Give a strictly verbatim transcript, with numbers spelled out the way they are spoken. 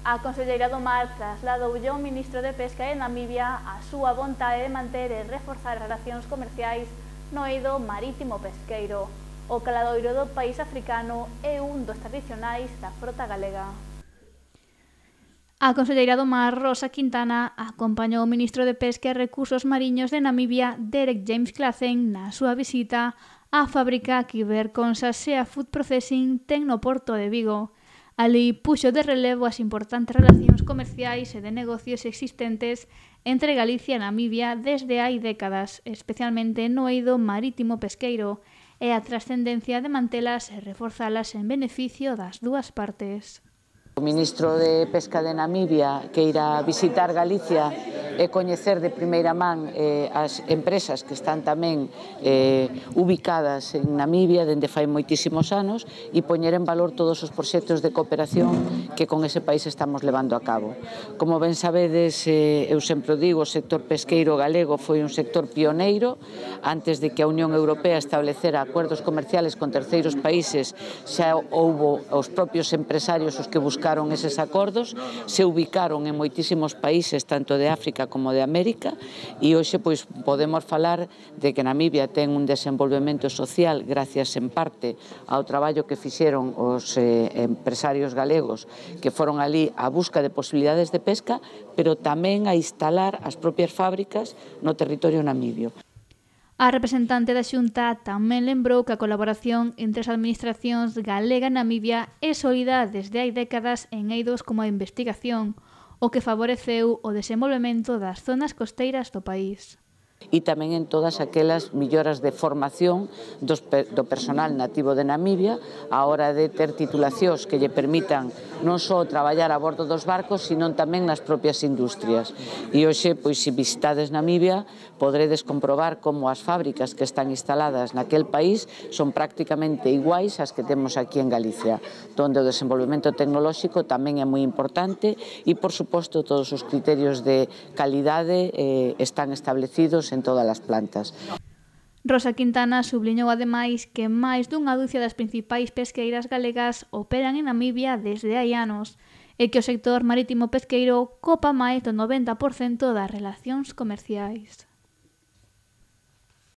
A conselleira do Mar trasladoulle ao ministro de Pesca de Namibia a súa vontade de manter e reforzar as relacións comerciais no eido marítimo pesqueiro. O caladoiro do país africano é un dos tradicionais da frota galega. A conselleira do Mar, Rosa Quintana, acompañou o ministro de Pesca e Recursos Mariños de Namibia, Derek James Claassen, na súa visita á fábrica que Iberconsa Seafood Processing ten no porto de Vigo. Ali puxo de relevo as importantes relacións comerciais e de negocios existentes entre Galicia e Namibia desde hai décadas, especialmente no eido marítimo pesqueiro, e a trascendencia de mantelas e reforzalas en beneficio das dúas partes. O ministro de Pesca de Namibia que irá visitar Galicia e coñecer de primeira man eh, as empresas que están tamén eh, ubicadas en Namibia dende fai moitísimos anos e poñer en valor todos os proxectos de cooperación que con ese país estamos levando a cabo. Como ben sabedes, eh, eu sempre digo, o sector pesqueiro galego foi un sector pioneiro. Antes de que a Unión Europea establecera acuerdos comerciales con terceiros países, xa houbo os propios empresarios os que buscaron eses acordos, se ubicaron en moitísimos países, tanto de África como de América, e hoxe pois podemos falar de que Namibia ten un desenvolvemento social gracias en parte ao traballo que fixeron os eh, empresarios galegos que foron ali á busca de posibilidades de pesca, pero tamén a instalar as propias fábricas no territorio namibio. A representante da Xunta tamén lembrou que a colaboración entre as administracións galega e Namibia é sólida desde hai décadas en eidos como a investigación, o que favoreceu o desenvolvemento das zonas costeiras do país. E tamén en todas aquelas melloras de formación dos, do personal nativo de Namibia á hora de ter titulacións que lle permitan non só traballar a bordo dos barcos, sino tamén nas propias industrias. E hoxe, pois, se visitades Namibia, podredes comprobar como as fábricas que están instaladas naquel país son prácticamente iguais ás que temos aquí en Galicia, donde o desenvolvemento tecnolóxico tamén é moi importante e, por suposto, todos os criterios de calidade eh, están establecidos en todas as plantas. Rosa Quintana subliñou ademais que máis dunha ducia das principais pesqueiras galegas operan en Namibia desde hai anos e que o sector marítimo pesqueiro copa máis do noventa por cento das relacións comerciais.